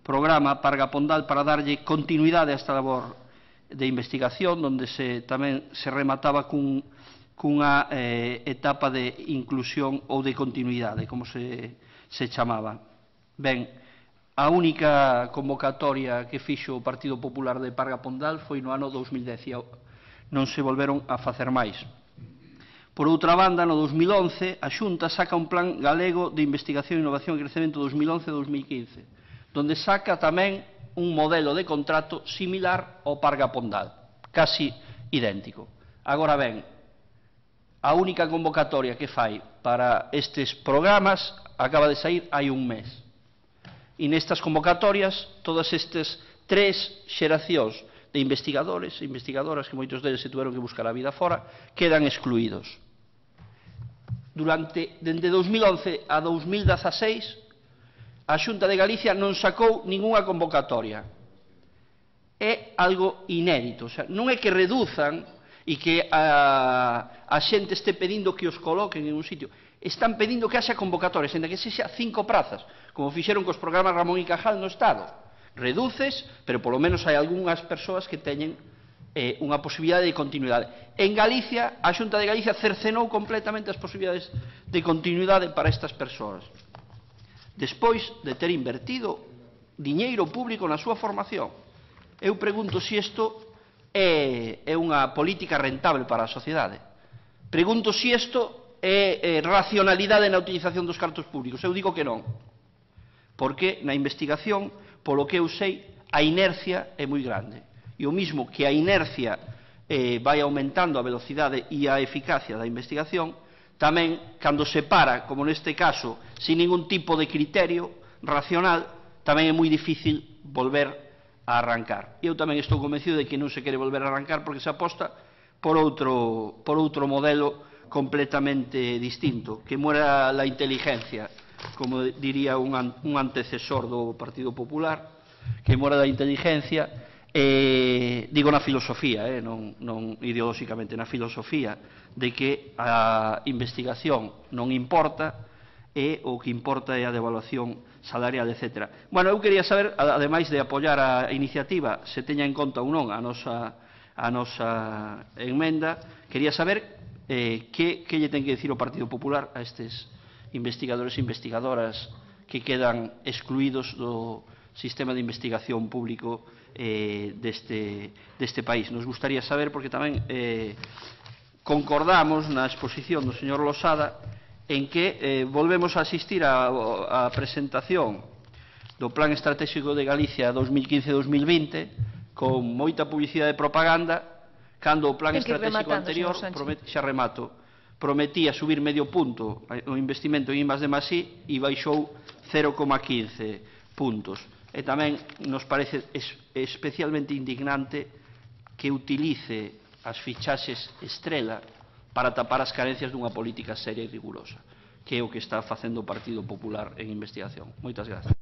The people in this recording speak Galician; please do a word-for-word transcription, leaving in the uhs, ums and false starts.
programa Parga Pondal para darlle continuidade a esta labor de investigación, onde se, tamén se remataba cun, cunha eh, etapa de inclusión ou de continuidade, como se, se chamaba. Ben, a única convocatoria que fixo o Partido Popular de Parga Pondal foi no ano dous mil dez, e non se volveron a facer máis. Por outra banda, no dous mil once, a Xunta saca un plan galego de investigación, innovación e crecemento dous mil once a dous mil quince, donde saca tamén un modelo de contrato similar ao Parga Pondal, casi idéntico. Agora ben, a única convocatoria que fai para estes programas acaba de sair hai un mes. E nestas convocatorias, todas estas tres xeracións de investigadores e investigadoras, que moitos deles se tuveron que buscar a vida fora, quedan excluídos. Durante, dende dous mil once a dous mil dezaseis, a Xunta de Galicia non sacou ningunha convocatoria. É algo inédito. O sea, non é que reduzan e que a, a xente este pedindo que os coloquen en un sitio. Están pedindo que haxa convocatorias, ainda que sexa cinco prazas, como fixeron cos programas Ramón y Cajal no Estado. Reduces, pero polo menos hai algunhas persoas que teñen eh, unha posibilidade de continuidade. En Galicia, a Xunta de Galicia cercenou completamente as posibilidades de continuidade para estas persoas, despois de ter invertido diñeiro público na súa formación. Eu pregunto se isto é, é unha política rentable para a sociedade. Pregunto se isto é, é racionalidade na utilización dos cartos públicos. Eu digo que non. Porque na investigación, polo que eu sei, a inercia é moi grande. E o mismo que a inercia eh, vai aumentando a velocidade e a eficacia da investigación, tamén, cando se para, como neste caso, sin ningún tipo de criterio racional, tamén é moi difícil volver a arrancar. Eu tamén estou convencido de que non se quere volver a arrancar porque se aposta por outro, por outro modelo completamente distinto, que muera la inteligencia, como diría un, un antecesor do Partido Popular, que muera da inteligencia. Eh, digo na filosofía, eh, non, non ideolóxicamente, na filosofía, de que a investigación non importa e o que importa é a devaluación salarial, etcétera. Bueno, eu quería saber, ademais de apoiar a iniciativa, se teña en conta ou non a nosa, a nosa enmenda, quería saber eh, que, que lle ten que dicir o Partido Popular a estes investigadores e investigadoras que quedan excluídos do sistema de investigación público eh, deste, deste país. Nos gustaría saber, porque tamén eh, concordamos na exposición do señor Losada en que eh, volvemos a asistir á presentación do Plan Estratégico de Galicia dos mil quince a dos mil vinte con moita publicidade e propaganda, cando o Plan Estratégico anterior, promet, xa remato, prometía subir medio punto o investimento en I más D más I e baixou cero coma quince puntos. E tamén nos parece especialmente indignante que utilice as fichaxes estrela para tapar as carencias dunha política seria e rigurosa, que é o que está facendo o Partido Popular en investigación. Moitas grazas.